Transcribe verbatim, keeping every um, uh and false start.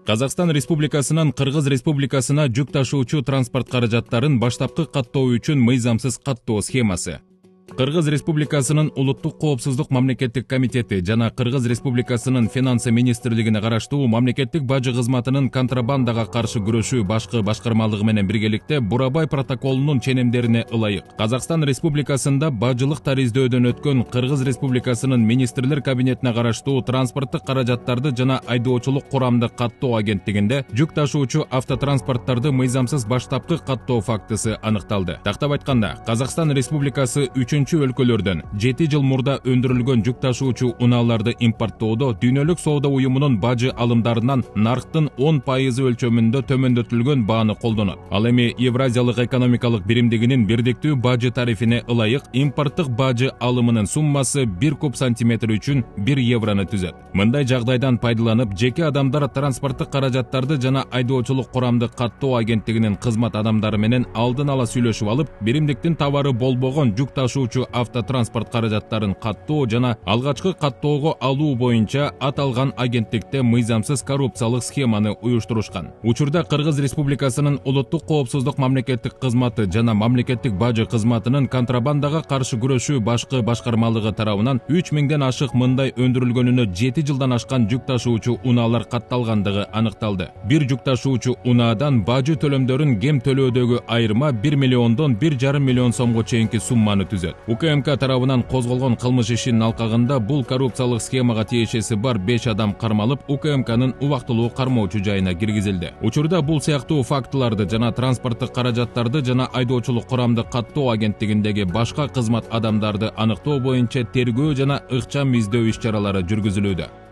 Казакстан Республикасынан Кыргыз Республикасына жүк ташуучу транспорт каражаттарын баштапкы каттоо үчүн мыйзамсыз каттоо схемасы. Кыргыз Республикасынын Улуттук коопсуздук мамлекеттик комитети жана Кыргыз Республикасынын Финансы министрлигине караштуу мамлекеттик бажы кызматынын контрабандага каршы күрөшүү башкы башкармалыгы менен биргеликте Бурабай протоколунун ченемдерине ылайык Казакстан Республикасында бажылык тариздөөдөн өткөн Кыргыз Республикасынын министрлер кабинетине караштуу транспорттук каражаттарды жана айдоочулук курамды каттоо агенттигинде жүк ташуучу автотранспорттарды мыйзамсыз баштапкы каттоо фактысы аныкталды. Тактап айтканда, Казакстан Республикасы үчүнчү өлкөлөрдөн жети жыл мурда өндүрүлгөн жүк ташуучу унааларды импорттоодо дүйнөлүк соода уюмунун бажы алымдарынан нарктын он пайызы өлчөмүндө төмөндөтүлгөн бааны колдонот. Ал эми Евразиялык экономикалык биримдигинин бирдиктүү бажы тарифине ылайык импорттук бажы алымынын суммасы бир куб сантиметр үчүн бир еврону түзөт. Мындай жагдайдан пайдаланып, жеке адамдар транспорттук каражаттарды жана айдоочулук курамды каттоо агенттигинин кызмат адамдары менен алдын ала сүйлөшүп алып, биримдиктин товары болбогон жүк ташуучу автотранспорт каражаттарын каттоо жана алгачкы каттоого алуу боюнча аталган агенттикте мыйзамсыз коррупциялык схеманы уюштурушкан. Учурда Кыргыз Республикасынын Улуттук коопсуздук мамлекеттик кызматы жана мамлекеттик бажы кызматынын контрабандага каршы күрөшүү башкы башкармалыгы тарабынан үч миңден ашык мындай өндүрүлгөнүнө жети жылдан ашкан жүк ташуучу унаалар катталгандыгы аныкталды. Бир жүк ташуучу унаадан бажы төлөмдөрүн кем төлөөдөгү айырма бир миллиондон бир жарым миллион сомго чейинки сумманы түзөт. УКМК тарабынан козголгон кылмыш ишинин алкагында бул коррупциялык схемага тиешеси бар беш адам кармалып, УКМКнын убактылуу кармоочу жайына киргизилди. Учурда бул сыяктуу фактыларды жана транспорттук каражаттарды жана айдоочулук курамды каттоо агенттигиндеги башка кызмат адамдарды аныктоо боюнча тергөө жана ыкчам издөө иш-чаралары жүргүзүлүүдө.